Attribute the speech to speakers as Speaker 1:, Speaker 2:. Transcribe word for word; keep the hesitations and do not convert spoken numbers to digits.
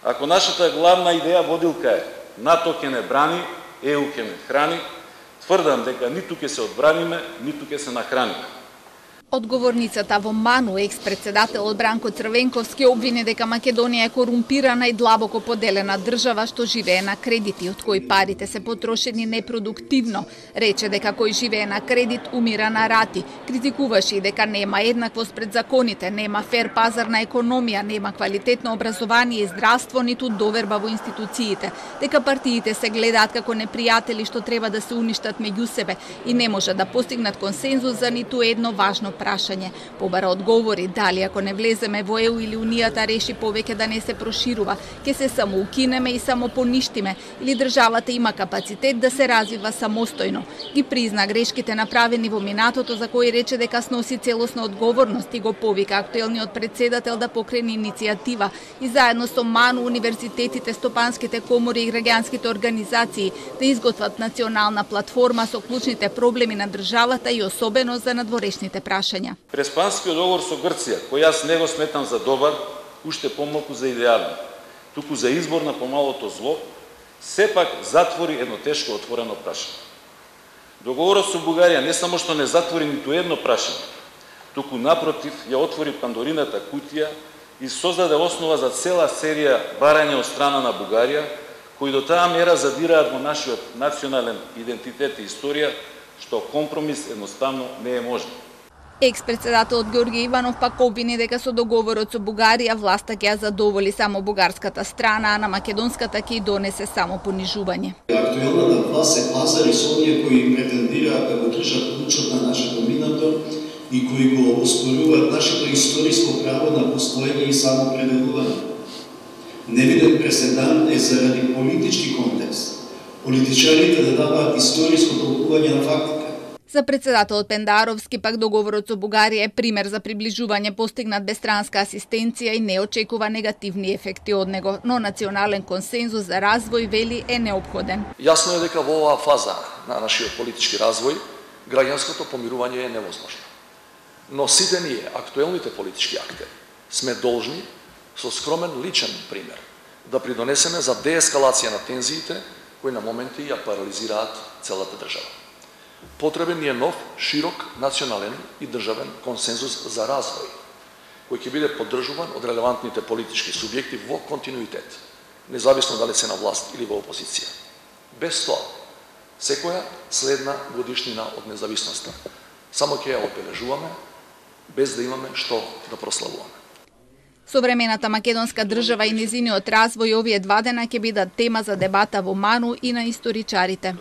Speaker 1: Ако нашата главна идеја водилка е НАТО ќе не брани, Е У ќе не храни, тврдам дека ниту ќе се одбраниме, ниту ќе се нахраниме.
Speaker 2: Одговорницата во Ману, екс-председателот Бранко Црвенковски, обвини дека Македонија е корумпирана и длабоко поделена држава што живее на кредити, од кои парите се потрошени непродуктивно. Рече дека кој живее на кредит умира на рати. Критикуваше и дека нема еднаквост пред законите, нема фер пазарна економија, нема квалитетно образование и здравство, ниту доверба во институциите, дека партиите се гледаат како непријатели што треба да се уништат меѓу себе и не може да постигнат консензус за ниту едно важно прашање. Побара одговори дали ако не влеземе во Е У или Унијата реши повеќе да не се проширува, ќе се само укинеме и само поништиме, или државата има капацитет да се развива самостојно. Ги призна грешките направени во минатото, за кои рече дека сноси целосна одговорност и го повика актуелниот председател да покрени иницијатива и заедно со Ману, универзитетите, стопанските комори и граѓанските организации да изготват национална платформа со клучните проблеми на државата и особено за надворешните прашања.
Speaker 1: Преспанскиот договор со Грција, кој јас не го сметам за добар, уште помалку за идеален, туку за избор на помалото зло, сепак затвори едно тешко отворено прашање. Договорот со Бугарија не само што не затвори ниту едно прашање, туку напротив ја отвори Пандорината кутија и создаде основа за цела серија барања од страна на Бугарија, кои до таа мера задираат во нашиот национален идентитет и историја, што компромис едноставно не е можен.
Speaker 2: Екс-председателот Ѓорѓе Иванов пак обвини дека со договорот со Бугарија власта ќе ја задоволи само бугарската страна, а на македонската ќе донесе само понижување.
Speaker 3: Актуелната власт се пазари со оние кои претендираат да го држат ключот на нашето минато и кои го оспоруваат нашето историско право на постоење и самоопределување. Невиден преседан е заради политички контекст. Политичарите да даваат историско толкување на фактите.
Speaker 2: За председателот Пендаровски пак договорот со Бугарија е пример за приближување постигнат без странска асистенција и не очекува негативни ефекти од него, но национален консензус за развој, вели, е неопходен.
Speaker 4: Јасно е дека во оваа фаза на нашиот политички развој граѓанското помирување е невозможно. Но сите ние, актуелните политички актери, сме должни со скромен личен пример да придонесеме за деескалација на тензиите кои на моменти ја парализираат целата држава. Потребен ни е нов, широк, национален и државен консензус за развој, кој ќе биде поддржуван од релевантните политички субјекти во континуитет, независно дали се на власт или во опозиција. Без тоа, секоја следна годишнина од независноста само ќе ја одбележуваме, без да имаме што да прославуваме.
Speaker 2: Современата македонска држава и незиниот развој овие два дена ќе бидат тема за дебата во Ману и на историчарите.